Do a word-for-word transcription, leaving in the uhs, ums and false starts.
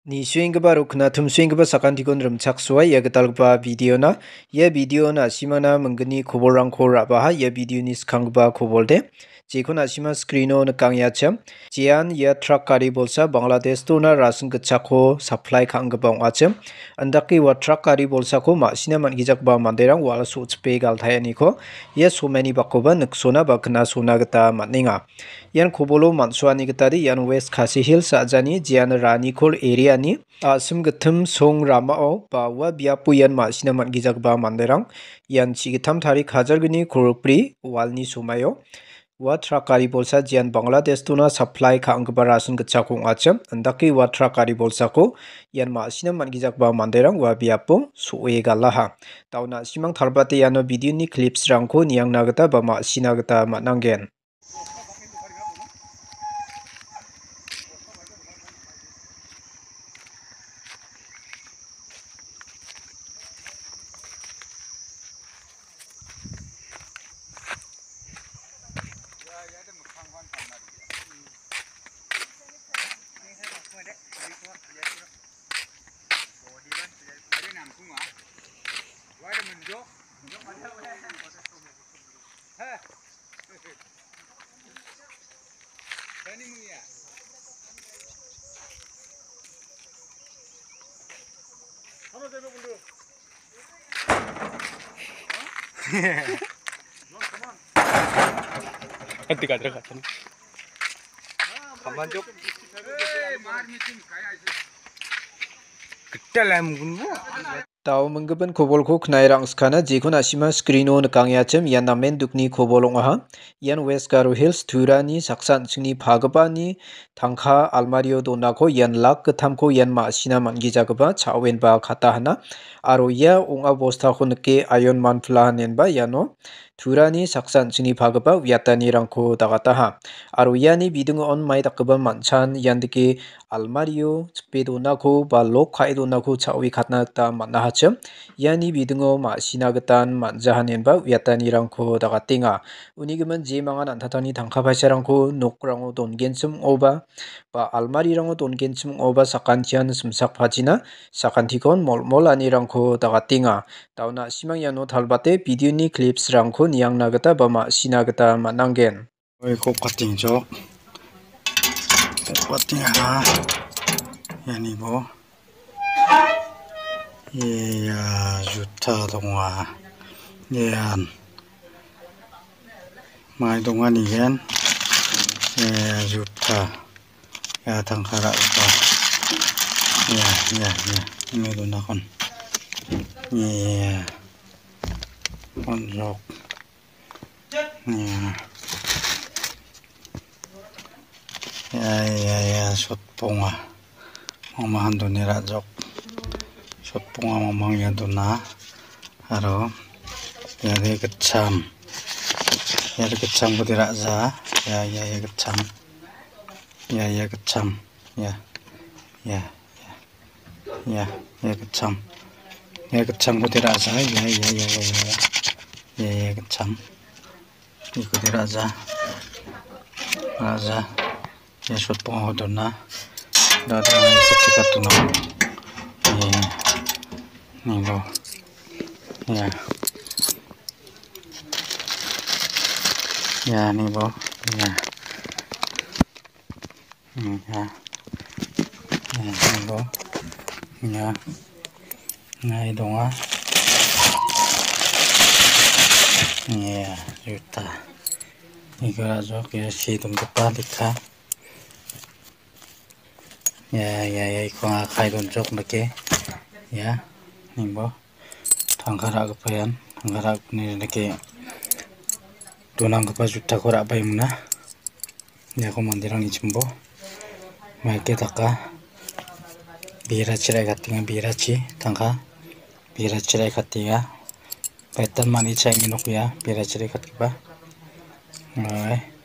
Nisuenggipa aro knatumsuenggipa sakantikon rimchaksoa ia gitalgipa videona. Ia videona na·simana minggni kobolrangko ra·baha ia videoni skanggipa kobolde. Jekon na·sima screeno nikangengacha. Jean ia trak gari bolsa Bangladesh dona rasin gitchakko supply ka·anggipa ong·achim. Indake ua trak gari bolsako ma·sina man·gijagipa manderang wal so·chipe galtaeniko ia somaini bakoba niksona ba knasona gita man·enga. Ian kobolo man·soani gitade ian West Khasi Hills a·jani Jean Ranikol area-ni a·sim gittim song ramao ba ua biapo ian ma·sina man·gijagipa manderang ian chi gittam tarik hajalgni kolgri walni somaio ua trak gari bolsa Jean Bangladesh dona supply ka·anggipa rasin gitchako ong·achim. Indake ua trak gari bolsako ian ma·sina man·gijagipa manderang ua biapo so·e galaha. Dao na·simang talbate iano videoni clipsrangko niangna gita ba ma·sina gita man·angen. Nanti kadra kacang. Kamanjuk. Ketel em gunbo. Dao minggipa kobolko knae rang·skana, jekon na·sima screeno nikangengacha, ian namen dukni kobol ong·aha. Ian West Garo Hills Turani saksa an·chingni pagipani tangka almario donako ian lak gittamko ian ma·sina man·gijagipa cha·oenba kata hana. Aro ia ong·a bostako nike Ayon Manpla inenba iano Turani saksa an·chingni pagipa uiatanirangko dagataha. Aro iani bidingo on mai dakgipa man·chan iandake almario chipe donako ba lok ka·e donako cha·oe katna gita man·ahachim. Iani bidingo ma·sina gitan man·jaha inenba uiatanirangko dagatenga. Uni gimin jemangan an·tangtangni tangka paisarangko nokrango dongenchim ong·oba ba almarirango dongenchim ong·oba sakantian simsakpachina sakantikon molmol anirangko dagatenga. Dao na·simang iano talbate videoni clipsrangko niangna gita ba ma·sina gita man·angen. Oi, kok kating jok. Kok kating ha. Iani bo. Ia, juta donga. Ian. Mai donga nigen. Ia, juta. Ia, tangka ra·gipa. Ia, ia, ia. Ini donakon. Ia. Onjok. Ia. Ia, ia, ia, sotponga. Mamahan doni ra·jok. Sotponga mamang ia dona. Aro. Ia de gitcham. Ia de gitchamko de ra·ja. Ia, ia, ia gitcham. Ia, ia gitcham. Ia. Ia. Ia, ia gitcham. Ia gitchamko de ra·ja. Ia, ia, ia, ia, ia. Ia, ia gitcham. Iko de ra·ja. Ra·ja. Ia sotpongako dona. Da, da, ia ketika tuna. Ia. Ni bo. Ia. Ia, ni bo. Ia. Ia. Ia, nangko. Ia. Nai donga. Ia, juta. Iga jok, ia, si donggipa lekka. Ia, ia, ia, iko akai donjok dake. Ia, ningbo. Tangka ra·gipa ian, tangka ra·gipani dake donanggipa jutako ra·baimina. Iako manderangni chimbo maike daka berachi ra·ikatenga, berachi tangka berachi ra·ikatenga. Betan mani cha·ani nok ia berachi ra·ikatgipa. Ai.